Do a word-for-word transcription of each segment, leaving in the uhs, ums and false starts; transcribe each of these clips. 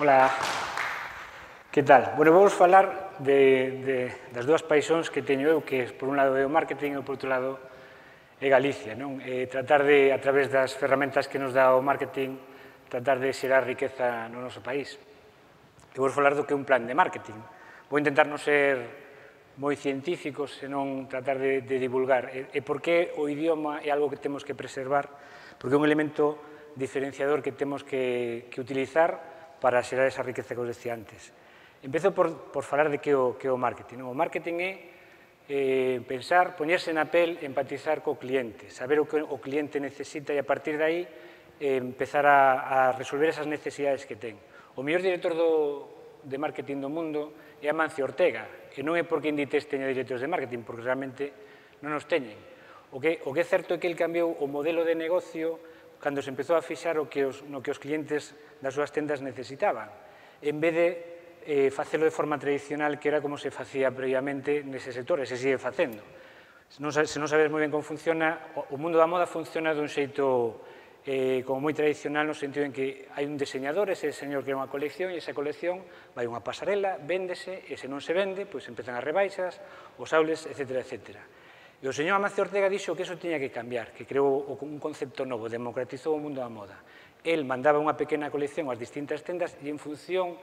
Ola, que tal? Bueno, vamos falar de, de, das dúas paixóns que teño eu, que por un lado é o marketing e por outro lado é Galicia, non? E tratar de, a través das ferramentas que nos dá o marketing, tratar de xerar riqueza no noso país. E vou falar do que é un plan de marketing. Vou intentar non ser moi científico, senón tratar de, de divulgar. E, e por que o idioma é algo que temos que preservar, porque é un elemento diferenciador que temos que, que utilizar para xerar esa riqueza que os decía antes. Empezo por, por falar de que o, que o marketing. O marketing é eh, pensar, poñerse na pel, empatizar co cliente, saber o que o cliente necesita e a partir de aí eh, empezar a, a resolver esas necesidades que ten. O mellor director do, de marketing do mundo é Amancio Ortega, e non é porque Inditex teña directores de marketing, porque realmente non os teñen. O que, o que é certo é que ele cambiou o modelo de negocio cando se empezou a fixar o que os, no que os clientes das súas tendas necesitaban, en vez de eh, facelo de forma tradicional, que era como se facía previamente nese sector, e se sigue facendo. Se non, se non sabes moi ben como funciona, o mundo da moda funciona dun xeito eh, como moi tradicional, no sentido en que hai un diseñador, ese señor crea unha colección, e esa colección vai unha pasarela, véndese, e se non se vende, pois empezan as rebaixas, os aules, etcétera, etcétera. E o señor Amancio Ortega dixo que eso tiña que cambiar, que creou un concepto novo, democratizou o mundo da moda. El mandaba unha pequena colección ás distintas tendas e en función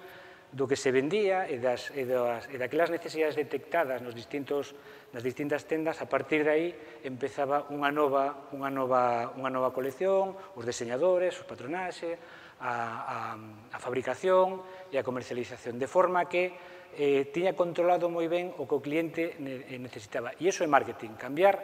do que se vendía e, das, e, das, e daquelas necesidades detectadas nos distintos, nas distintas tendas, a partir de aí empezaba unha nova, unha nova, unha nova colección, os diseñadores, os patronaxes, a, a, a fabricación e a comercialización, de forma que eh, tiña controlado moi ben o que o cliente necesitaba. E iso é marketing, cambiar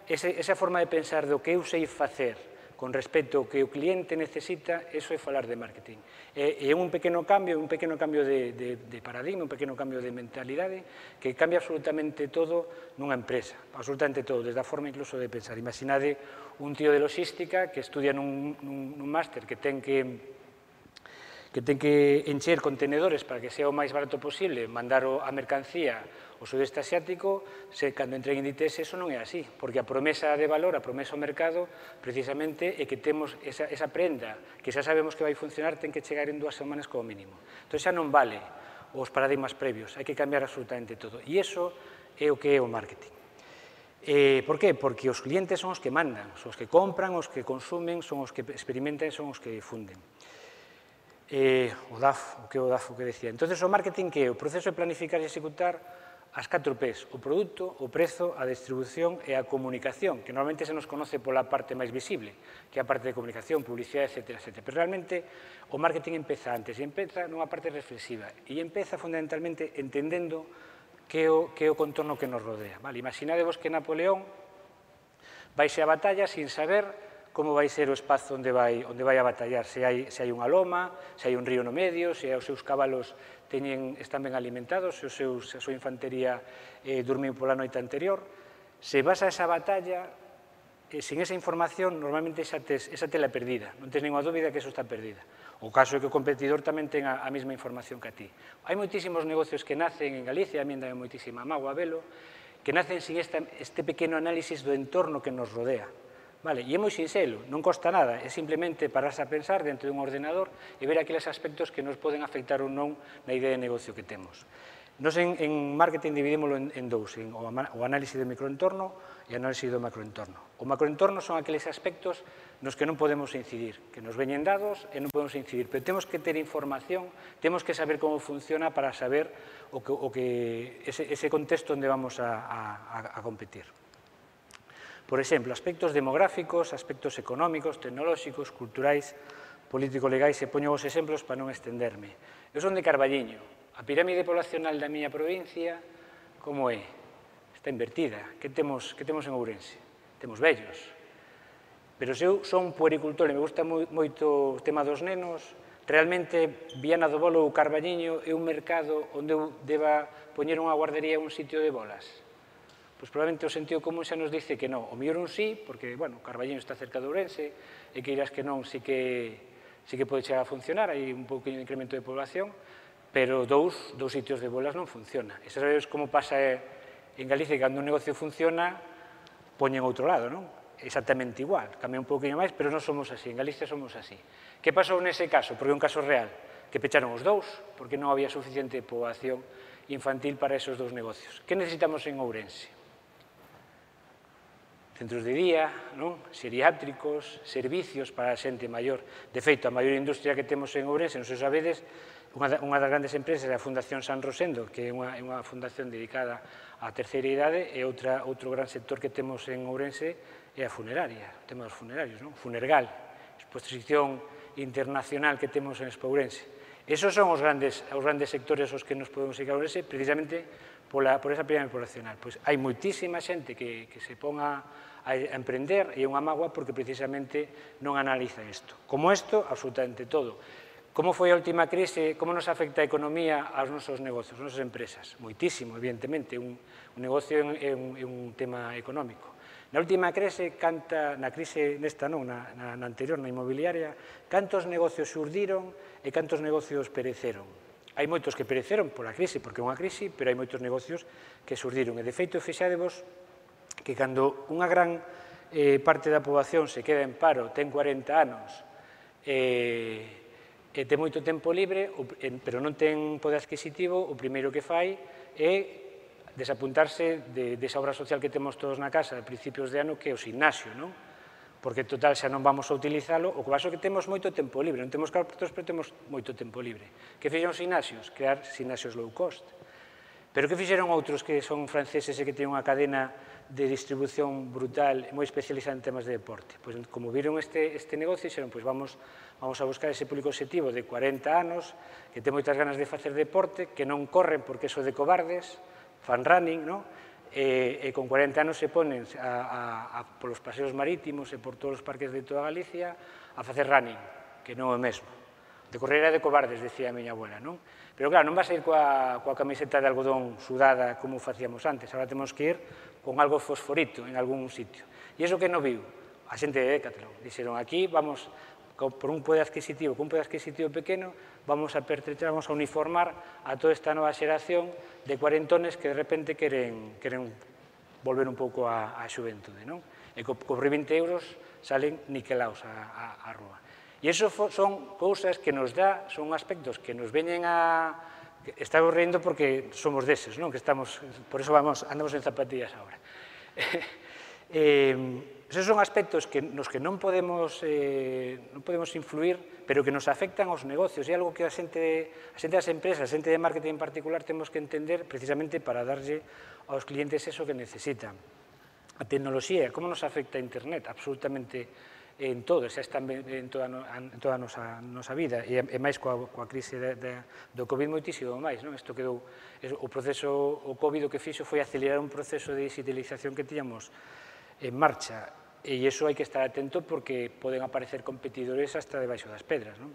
ese, esa forma de pensar do que eu sei facer con respecto ao que o cliente necesita, eso é falar de marketing. E é un pequeno cambio, un pequeno cambio de, de, de paradigma, un pequeno cambio de mentalidade que cambia absolutamente todo nunha empresa, absolutamente todo, desde a forma incluso de pensar. Imaginade un tío de logística que estudia nun, nun, nun máster que ten que que ten que encher contenedores para que sea o máis barato posible, mandar a mercancía ao sudeste asiático, se cando entre en Inditex eso non é así, porque a promesa de valor, a promesa ao mercado, precisamente é que temos esa, esa prenda que xa sabemos que vai funcionar, ten que chegar en dúas semanas como mínimo. Entón xa non vale os paradigmas previos, hai que cambiar absolutamente todo. E iso é o que é o marketing. Eh, por que? Porque os clientes son os que mandan, son os que compran, os que consumen, son os que experimentan, son os que difunden. Eh, o D A F, o que é o D A F, o que decía. Entón, o marketing que é o proceso de planificar e executar as catro P's, o produto, o prezo, a distribución e a comunicación, que normalmente se nos conoce pola parte máis visible, que é a parte de comunicación, publicidade, etcétera, etcétera. Pero realmente o marketing empeza antes, e empeza nunha parte reflexiva, e empeza fundamentalmente entendendo que é o, que é o contorno que nos rodea. Vale? Imaginadevos que Napoleón vaise a batalla sin saber como vai ser o espazo onde vai, onde vai a batallar, se hai, se hai unha loma, se hai un río no medio, se os seus cabalos teñen, están ben alimentados, se os seus, a súa infantería eh, dormiu pola noite anterior. Se vas a esa batalla, eh, sin esa información, normalmente esa, tes, esa tela é perdida, non tens ninguna dúbida que eso está perdida. O caso é que o competidor tamén ten a, a mesma información que a ti. Hai moitísimos negocios que nacen en Galicia, a mí dame moitísima mágoa velo, que nacen sin esta, este pequeno análisis do entorno que nos rodea. Vale, e é moi sinxelo, non costa nada, é simplemente pararse a pensar dentro dun ordenador e ver aqueles aspectos que nos poden afectar ou non na idea de negocio que temos. Nos en, en marketing dividímoslo en, en dous, en o, o análisis do microentorno e o análisis do macroentorno. O macroentorno son aqueles aspectos nos que non podemos incidir, que nos veñen dados e non podemos incidir, pero temos que ter información, temos que saber como funciona para saber o que, o que ese, ese contexto onde vamos a, a, a competir. Por exemplo, aspectos demográficos, aspectos económicos, tecnolóxicos, culturais, político-legais, e poño os exemplos para non estenderme. Eu son de Carballiño. A pirámide poblacional da miña provincia, como é? Está invertida. Que temos, que temos en Ourense? Temos vellos. Pero se eu son un puericultor e me gusta moito o tema dos nenos, realmente Viana do Bolo ou Carballiño é un mercado onde eu deba poñer unha guardería ou un sitio de bolas? Pois probablemente o sentido común xa nos dice que non. O mellor un sí, porque, bueno, Carballiño está cerca de Ourense, e que irás que non, sí que, sí que pode chegar a funcionar, hai un pouquinho de incremento de población, pero dous, dous sitios de bolas non funciona. E sabes como pasa en Galicia, que cando un negocio funciona, poñen outro lado, non? Exactamente igual, cambia un pouquinho máis, pero non somos así, en Galicia somos así. Que pasou nese caso? Porque é un caso real. que pecharon os dous, porque non había suficiente poboación infantil para esos dous negocios. Que necesitamos en Ourense? Centros de día, non? Xeriátricos, servicios para a xente maior. De feito, a maior industria que temos en Ourense, non se sabedes, unha das grandes empresas é a Fundación San Rosendo, que é unha, unha fundación dedicada á terceira idade, e outra, outro gran sector que temos en Ourense é a funeraria, o tema dos funerarios, non? Funergal, exposición internacional que temos en Expo Ourense. Esos son os grandes, os grandes sectores aos que nos podemos dedicar a Ourense, precisamente pola, por esa pirámide poblacional. Pois hai moitísima xente que, que se ponga a emprender e unha mágoa porque precisamente non analiza isto. Como isto, absolutamente todo. Como foi a última crise, como nos afecta a economía aos nosos negocios, aos nosas empresas? Moitísimo, evidentemente, un, un negocio é un, é un tema económico. Na última crise, canta, na crise nesta non, na, na, na anterior, na inmobiliaria, cantos negocios surdiron e cantos negocios pereceron. Hai moitos que pereceron pola crise, porque é unha crise, pero hai moitos negocios que surdiron. E, de feito, fixadevos que cando unha gran eh, parte da poboación se queda en paro, ten cuarenta anos, e... Eh, e ten moito tempo libre, pero non ten poder adquisitivo, o primeiro que fai é desapuntarse de, desa obra social que temos todos na casa a principios de ano, que é o gimnasio, non? Porque, total, xa non vamos a utilizalo, o que pasa é que temos moito tempo libre, non temos cartos, pero temos moito tempo libre. Que fixeron os gimnasios? Crear gimnasios low cost. Pero que fixeron outros que son franceses e que teñen unha cadena de distribución brutal e moi especializada en temas de deporte? Pois, como viron este, este negocio, dixeron, pois vamos, vamos a buscar ese público objetivo de cuarenta anos, que ten moitas ganas de facer deporte, que non corren porque eso de cobardes, fan running, non? E, e con cuarenta anos se ponen a, a, a, polos paseos marítimos e por todos os parques de toda Galicia a facer running, que non é o mesmo. De correr era de cobardes, decía a miña abuela, non? Pero, claro, non vas a ir coa, coa camiseta de algodón sudada como facíamos antes, agora temos que ir con algo fosforito en algún sitio. E iso que non viu? A xente de Decathlon. Dixeron, aquí vamos, por un poder adquisitivo, con un poder adquisitivo pequeno, vamos a pertretar, vamos a uniformar a toda esta nova xeración de cuarentones que de repente queren, queren volver un pouco á, á xuventude, non? E co, co vinte euros salen niquelaos á, á, á rúa. E iso son cousas que nos dá, son aspectos que nos veñen a... Estamos rindo porque somos deses, non? Que estamos, por eso vamos, andamos en zapatillas agora. eh, esos son aspectos que, nos que non podemos, eh, non podemos influir, pero que nos afectan aos negocios. É algo que a xente, a xente das empresas, a xente de marketing en particular, temos que entender precisamente para darlle aos clientes eso que necesitan. A tecnoloxía, como nos afecta a Internet? Absolutamente en todo, xa está en toda, en toda a nosa, nosa vida, e, e máis coa, coa crise de, de, do COVID moitísimo máis, non? Isto quedou, o proceso, o COVID o que fixo foi acelerar un proceso de digitalización que tiñamos en marcha, e iso hai que estar atento porque poden aparecer competidores hasta debaixo das pedras, non?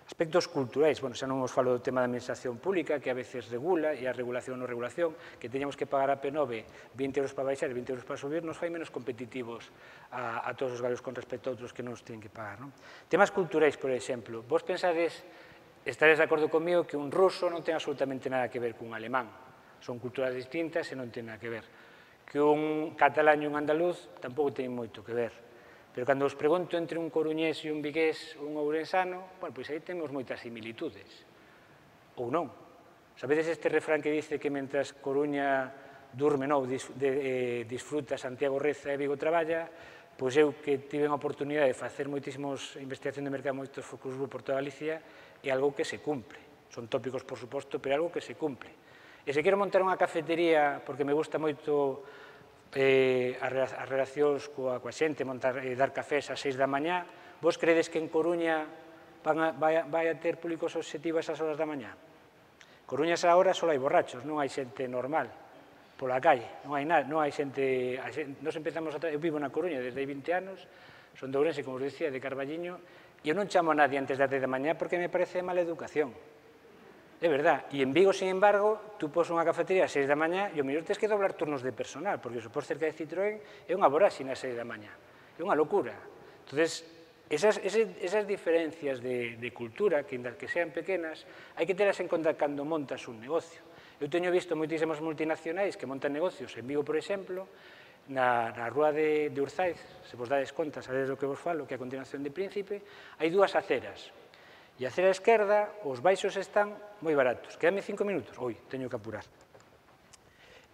Aspectos culturais, bueno, xa non vos falo do tema da administración pública, que a veces regula, e a regulación ou non regulación, que teñamos que pagar a P nove vinte euros para baixar e vinte euros para subir, nos fai menos competitivos a, a todos os galegos con respecto a outros que non os teñen que pagar, non? Temas culturais, por exemplo, vos pensades, estaréis de acordo comigo, que un ruso non ten absolutamente nada que ver cun alemán. Son culturas distintas e non ten nada que ver. Que un catalán e un andaluz tampouco ten moito que ver. Pero cando os pregunto entre un coruñés e un vigués ou un ourensano, bueno, pois aí temos moitas similitudes. Ou non. Sabedes este refrán que dice que mentras Coruña durme, non, de, eh, disfruta, Santiago reza e Vigo traballa, pois eu que tive a oportunidade de facer moitísimos investigación de mercado, moitos focus group por toda Galicia, é algo que se cumpre. Son tópicos, por suposto, pero é algo que se cumpre. E se quero montar unha cafetería, porque me gusta moito Eh, as relacións coa, coa xente, montar, eh, dar cafés ás seis da mañá, vos credes que en Coruña van a, vai, a, vai a ter públicos obxectivos esas horas da mañá? Coruña esa hora só hai borrachos, non hai xente normal pola calle, non hai nada, non hai xente, a xente nos empezamos a, eu vivo na Coruña desde hai vinte anos, son de Ourense, como os dicía, de Carballiño, e eu non chamo a nadie antes das dez da mañá porque me parece mala educación. É verdad, e en Vigo, sin embargo, tú pos unha cafetería a seis da mañá e o mellor tens que doblar turnos de personal, porque se pos cerca de Citroën é unha voráxina a seis da mañá, é unha locura. Entón, esas, esas, esas diferencias de, de cultura, que, que sean pequenas, hai que telas en conta cando montas un negocio. Eu teño visto moitísimas multinacionais que montan negocios en Vigo, por exemplo, na, na rúa de, de Urzaiz, se vos dades conta, sabedes do que vos falo, que é a continuación de Príncipe, hai dúas aceras. E a cera esquerda, os baixos están moi baratos. Quédame cinco minutos? Oi, teño que apurar.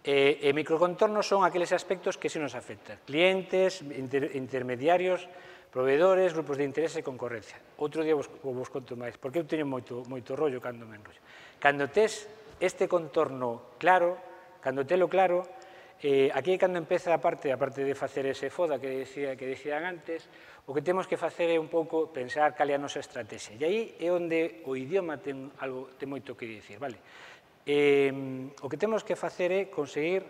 E, e microcontornos son aqueles aspectos que se nos afectan. Clientes, inter, intermediarios, proveedores, grupos de interese e concorrencia. Outro día vos, vos conto máis, porque eu teño moito, moito rollo cando me enrollo. Cando tes este contorno claro, cando telo claro, eh, aquí é cando empeza a parte, a parte de facer ese foda que, decía, que decían antes, o que temos que facer é un pouco pensar cal é a nosa estrategia. E aí é onde o idioma ten, algo, ten moito que dicir, vale? Eh, o que temos que facer é conseguir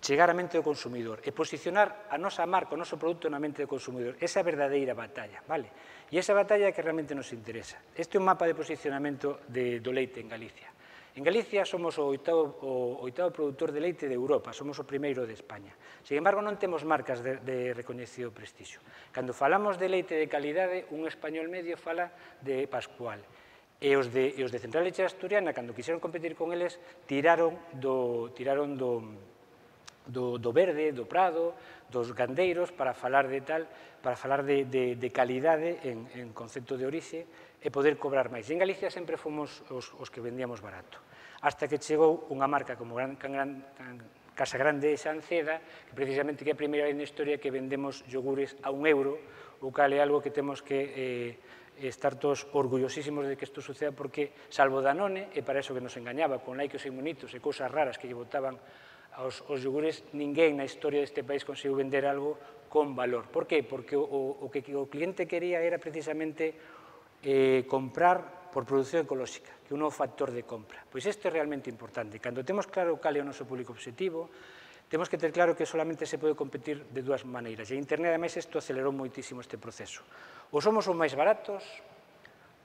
chegar á mente do consumidor e posicionar a nosa marca, o noso produto na mente do consumidor. Esa é a verdadeira batalla, vale? E esa batalla é que realmente nos interesa. Este é un mapa de posicionamento de, do leite en Galicia. En Galicia somos o oitavo, o oitavo produtor de leite de Europa, somos o primeiro de España. Sin embargo, non temos marcas de, de recoñecido prestixio. Cando falamos de leite de calidade, un español medio fala de Pascual. E os de, e os de Central Leche Asturiana, cando quixeron competir con eles, tiraron do, tiraron do, do, do verde, do prado, dos gandeiros, para falar de tal, para falar de, de, de calidade en, en concepto de orixe e poder cobrar máis. E en Galicia sempre fomos os, os que vendíamos barato. Hasta que chegou unha marca como Gran, Gran, Gran, Casa Grande e Sanceda, que precisamente que é a primeira vez na historia que vendemos yogures a un euro, o cal é algo que temos que... Eh, estar todos orgullosísimos de que isto suceda, porque, salvo Danone, e para iso que nos engañaba con laicos e monitos e cousas raras que lle botaban aos, aos yogures, ninguén na historia deste país conseguiu vender algo con valor. Por qué? Porque o, o que o cliente quería era precisamente eh, comprar por produción ecolóxica, que é un novo factor de compra. Pois isto é realmente importante. Cando temos claro cal é o noso público objetivo, temos que ter claro que solamente se pode competir de dúas maneiras. E a Internet, ademais, isto acelerou moitísimo este proceso. Ou somos os máis baratos,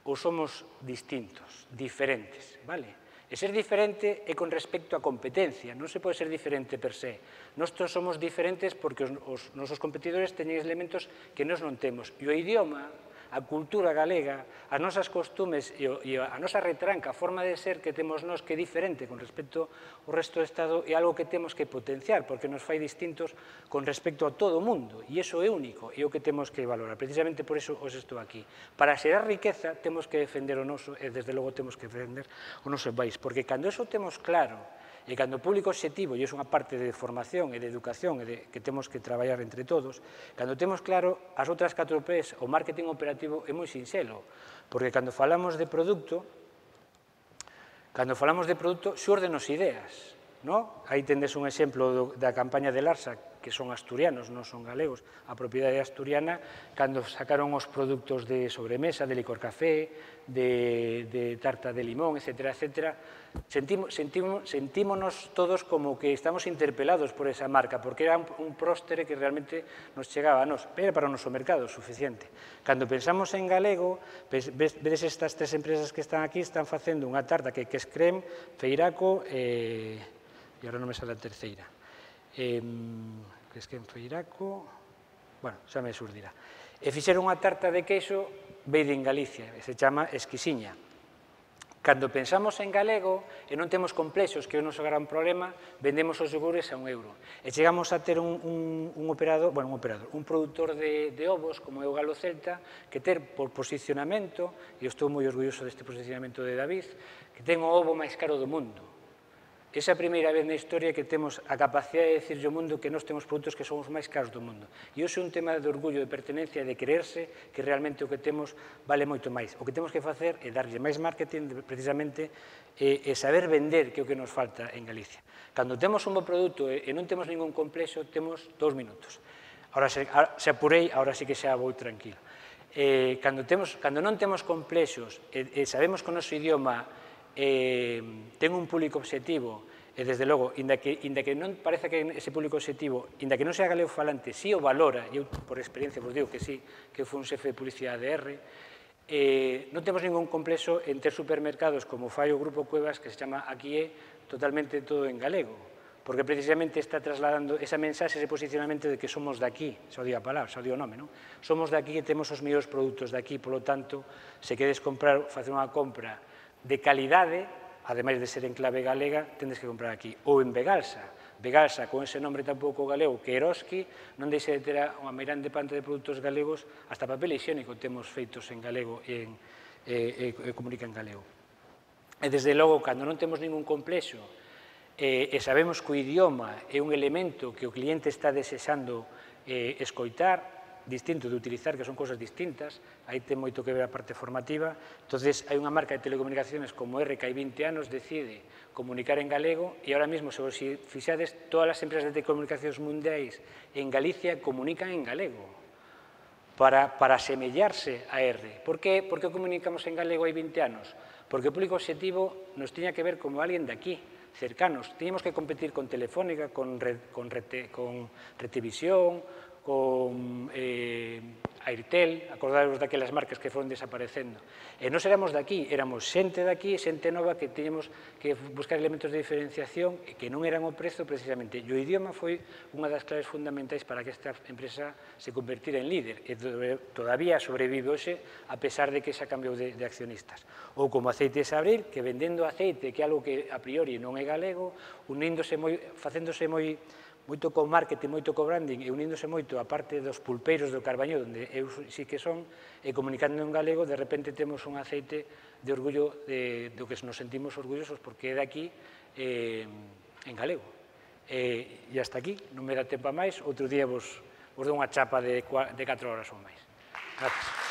ou somos distintos, diferentes, vale? E ser diferente é con respecto á competencia, non se pode ser diferente per se. Nós somos diferentes porque os, os nosos competidores teñen elementos que nós non temos. E o idioma, a cultura galega, as nosas costumes e, o, e a nosa retranca, a forma de ser que temos nós que é diferente con respecto ao resto do Estado, é algo que temos que potenciar, porque nos fai distintos con respecto a todo o mundo, e iso é único, e é o que temos que valorar. Precisamente por iso os estou aquí. Para xerar riqueza, temos que defender o noso, e desde logo temos que defender o noso país, porque cando iso temos claro, e cando o público objetivo, e é unha parte de formación e de educación e de, que temos que traballar entre todos, cando temos claro as outras catro P's, o marketing operativo é moi sinxelo, porque cando falamos de produto, cando falamos de produto, xúrdenos ideas, no? Aí tendes un exemplo do, da campaña de Larsa, que son asturianos, non son galegos, a propiedade asturiana, cando sacaron os produtos de sobremesa, de licor café, de, de tarta de limón, etcétera, etcétera, sentimos, sentimos, sentímonos todos como que estamos interpelados por esa marca, porque era un, un próstere que realmente nos chegaba a nos, pero para o noso mercado suficiente. Cando pensamos en galego, vedes estas tres empresas que están aquí, están facendo unha tarta que, que es Crem, Feiraco, e, e agora non me sale a terceira. Eh, que es que en Feiraco, bueno, xa me surdirá. E fixeron unha tarta de queixo made in Galicia, e se chama Esquisiña. Cando pensamos en galego e non temos complexos, que é o noso gran problema, vendemos os yogures a un euro. E chegamos a ter un, un, un operador, bueno, un operador, un produtor de, de ovos, como é o Galo Celta, que ter por posicionamento, e eu estou moi orgulloso deste posicionamento de David, que ten o ovo máis caro do mundo. Esa é a primeira vez na historia que temos a capacidade de dicirlle ao mundo que nós temos produtos que son os máis caros do mundo. E iso é un tema de orgullo, de pertenencia, de creerse que realmente o que temos vale moito máis. O que temos que facer é darlle máis marketing, precisamente, e, e saber vender, que é o que nos falta en Galicia. Cando temos un bo produto e, e non temos ningún complexo, temos dous minutos. Ahora se, se apurei, ahora sí que xa vou tranquilo. Eh, cando, temos, cando non temos complexos e, e sabemos que o noso idioma Eh, ten un público objetivo e, desde logo, inda que, inda que non pareza que ese público objetivo, inda que non sea galego falante, si o valora, e eu por experiencia vos digo que sí, que foi un xefe de publicidade de R, eh, non temos ningún complexo en ter supermercados como fai o Grupo Cuevas, que se chama Aquí é totalmente todo en galego, porque precisamente está trasladando esa mensaxe, ese posicionamento de que somos de aquí, xa o digo a palabra, xa o digo o nome, non? Somos de aquí e temos os mellores produtos de aquí, polo tanto, se queres comprar, facer unha compra de calidade, ademais de ser en clave galega, tendes que comprar aquí. Ou en Vegalsa. Vegalsa, con ese nombre tampouco galego, que Eroski, non deixe de ter unha meirande panta de produtos galegos, hasta papel higiénico temos feitos en galego e en, e, e comunica en galego. E, desde logo, cando non temos ningún complexo e, e sabemos que o idioma é un elemento que o cliente está desexando eh, escoitar, distinto de utilizar, que son cousas distintas, aí ten moito que ver a parte formativa. Entonces, hai unha marca de telecomunicaciones como R que hai vinte anos decide comunicar en galego e ahora mesmo, se vos fixades, todas as empresas de telecomunicacións mundiais en Galicia comunican en galego para, para asemellarse a R. Por que? Por que comunicamos en galego hai vinte anos? Porque o público objetivo nos tiña que ver como alguén de aquí, cercanos. Tiñamos que competir con Telefónica, con, Red, con, Rete, con Retevisión, con eh, Airtel, acordaros daquelas marcas que foron desaparecendo. E non éramos de aquí, éramos xente de aquí, xente nova que teñamos que buscar elementos de diferenciación e que non eran o prezo precisamente. E o idioma foi unha das claves fundamentais para que esta empresa se convertira en líder e todavía sobrevive hoxe a pesar de que xa cambiou de, de accionistas. Ou como Aceites Abril, que vendendo aceite, que é algo que a priori non é galego, uníndose moi, facéndose moi moito co marketing, moito co branding e uníndose moito a parte dos pulpeiros do Carbañó, onde eu sí que son, e comunicando en galego, de repente temos un aceite de orgullo de, do que nos sentimos orgullosos porque é de aquí eh, en galego. E, e hasta aquí, non me dá tempo a máis, outro día vos, vos dou unha chapa de, de catro horas ou máis. Gracias.